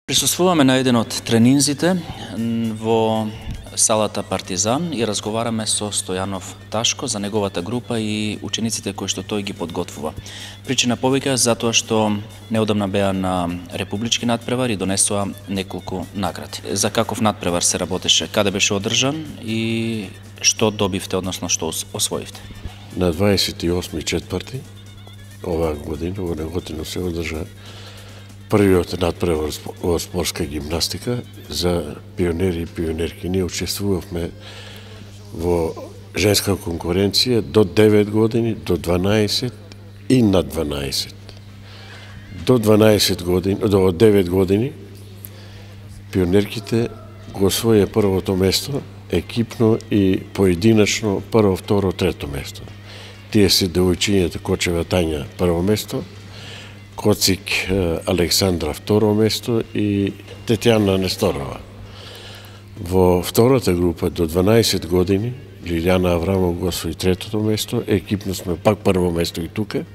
Присуствуваме на еден од тренинзите во салата Партизан и разговараме со Стојанов Ташко за неговата група и учениците кои што тој ги подготвува. Причина повеќе затоа што неодамна беа на републички надпревар и донесоа неколку награди. За каков надпревар се работеше, каде беше одржан и што добивте, односно што освоивте? На 28.4. оваа година, во Неготино се одржа првиот надпревар во спортска гимнастика за пионери и пионерки. Ние учествувавме во женска конкуренција до 9 години, до 12 и над 12. До 12 години, до 9 години пионерките го освоија првото место, екипно и поединачно прво, второ, трето место. Тие се девојчињата Кочева Тања прво место, Коцик Александра второ место и Тетјана Несторова. Во втората група до 12 години Лилјана Аврамов го освои третото место, екипно сме пак прво место и тука.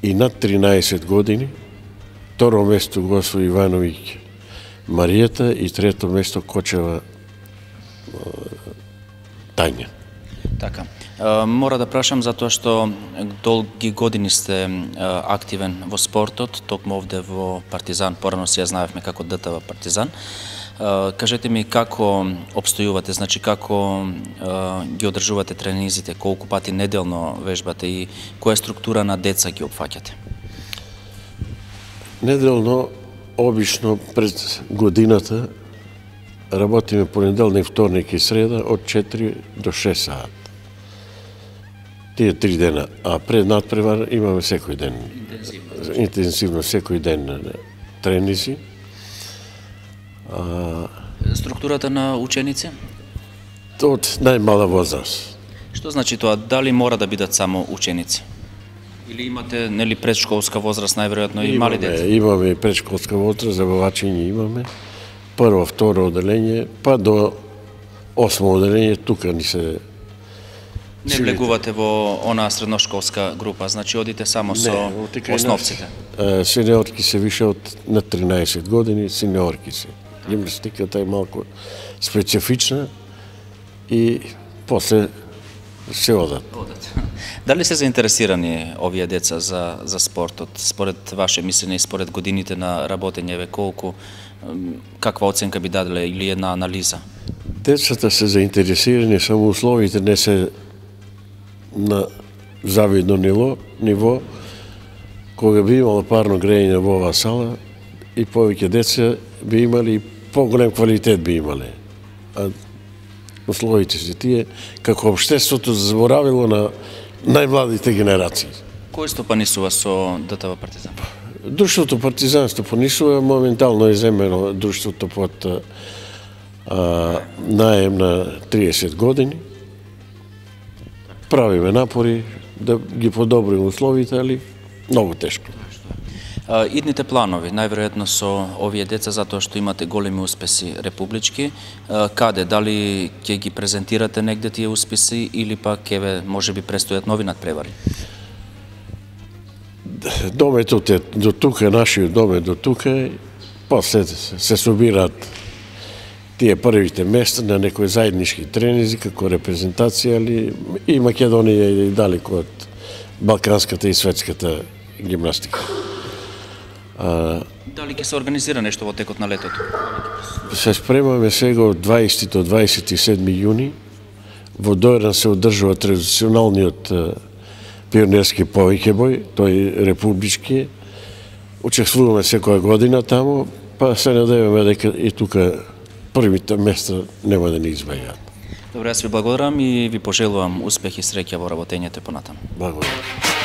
И над 13 години второ место го освои Ивановиќ Маријата и трето место Кочева Тања. Така. Мора да прашам затоа што долги години сте активен во спортот, токму овде во Партизан, порано си ја знаевме како ДТВ Партизан. Кажете ми како обстојувате, значи како ги одржувате тренизите, колку пати неделно вежбате и која структура на деца ги опфаќате? Неделно, обично пред годината работиме понеделник, вторник и среда од 4 до 6 саат. Тие 3 дена, а пред надпревар имаме секој ден. Интензивно секој ден тренизи. Структурата на ученици? Од најмала возраст. Што значи тоа? Дали мора да бидат само ученици? Или имате нели предшколска возраст најверојатно и мали деца? Имаме и предшколска возраст, забавачење имаме. Прво, второ оделење, па до 8 оделење, тука ни се... Не влегувате во онаа средношколска група, значи одите само со основците? Сениорки се више од на 13 години, сениорки се. Гимнастиката е малку специфична и после се одат. Дали се заинтересирани овие деца за спортот? Според ваше мислење и според годините на работење, колку, каква оценка би даделе или една анализа? Децата се заинтересирани, само условите не се на завидно ниво, кога би имало парно грејење во оваа сала и повеќе деца би имали и поголем квалитет би имале. А условите се тие, како општеството заборавило на најмладите генерации. Кој стопанисува со ДТВ Партизан? Друштвото Партизан стопанисува, моментално е земено друштвото под наем на 30 години. Правиме напори да ги подобриме условите, али многу тешко. Идните планови, најверојатно со овие деца, затоа што имате големи успеси републички, каде, дали ќе ги презентирате негде тие успеси или пак еве можеби престојат нови надпревари? Домето е до тука, нашиот дом е до тука, после се собираат тие првите места на некои заеднички тренизи како репрезентација, али и Македонија и далеко од балканската и светската гимнастика. Дали ќе се организира нешто во текот на летото? Се спремаме сега од 20 до 27 јуни. Во Дојран се одржува традиционалниот пионерски повеќебој, тој републички. Учествуваме секоја година таму, па се надеваме дека и тука првите места нема да ни избегаат. Добре, јас ви благодарам и ви пожелувам успех и среќа во работењето понатаму. Благодарам.